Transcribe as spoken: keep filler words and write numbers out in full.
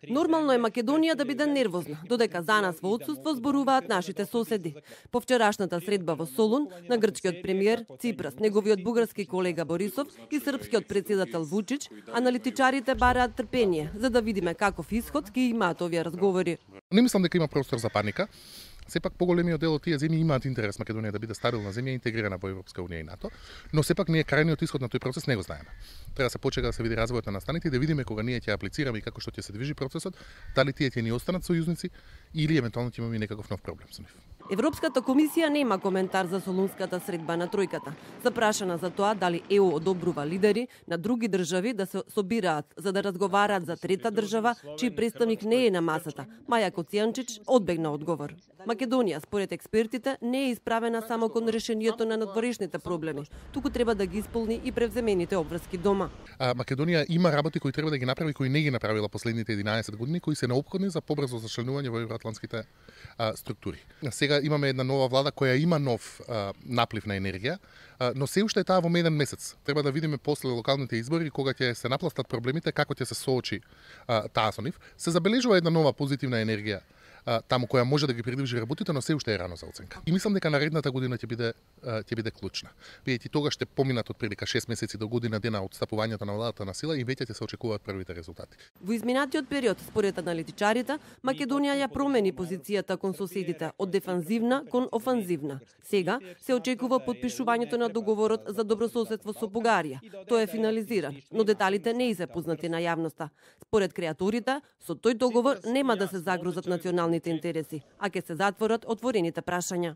Нормално е Македонија да биде нервозна, додека за нас во отсуство зборуваат нашите соседи. По вчерашната средба во Солун на грчкиот премиер Ципрас, неговиот бугарски колега Борисов и српскиот претседател Вучич, аналитичарите бараат трпение за да видиме каков исход ќе имаат овие разговори. Не мислам дека има простор за паника. Сепак поголемиот дел од тие земји имаат интерес Македонија да биде стабилна земја интегрирана во Европска унија и НАТО, но сепак ние крајниот исход на тој процес не го знаеме. Треба да се почека да се види развојот на настаните и да видиме кога ние ќе аплицираме и како што ќе се движи процесот, дали тие ќе ни останат сојузници или евентуално ќе имаме некаков нов проблем со нив. Европската комисија нема коментар за солунската средба на тројката. Запрашана за тоа дали Е У одобрува лидери на други држави да се собираат за да разговараат за трета држава, чиј представник не е на масата, Маја Коцијанчич одбегна одговор. Македонија, според експертите, не е исправена само кон решението на надворешните проблеми, туку треба да ги исполни и превземените обврски дома. А, Македонија има работи кои треба да ги направи, кои не ги направила последните единаесет години, кои се неопходни за побрзо зачленување во евроатлантските а, структури. Сега имаме една нова влада која има нов а, наплив на енергија, а, но се уште е таа во еден месец. Треба да видиме после локалните избори кога ќе се напластат проблемите, како ќе се соочи а, таа со нив. Се забележува една нова позитивна енергија таму која може да ги придвижи работите, но се уште е рано за оценка. И мислам дека наредната година ќе биде ќе биде клучна. Бидејќи тогаш ще поминат од прилика шест месеци до година дена од стапувањето на владата на сила и веќе ќе се очекуваат првите резултати. Во изминатиот период, според аналитичарите, Македонија ја промени позицијата кон соседите од дефанзивна кон офанзивна. Сега се очекува подпишувањето на договорот за добрососедство со Бугарија. Тој е финализиран, но деталите не се познати на јавноста. Според креаторите, со тој договор нема да се загрозат национални интереси, а ќе се затворат отворените прашања.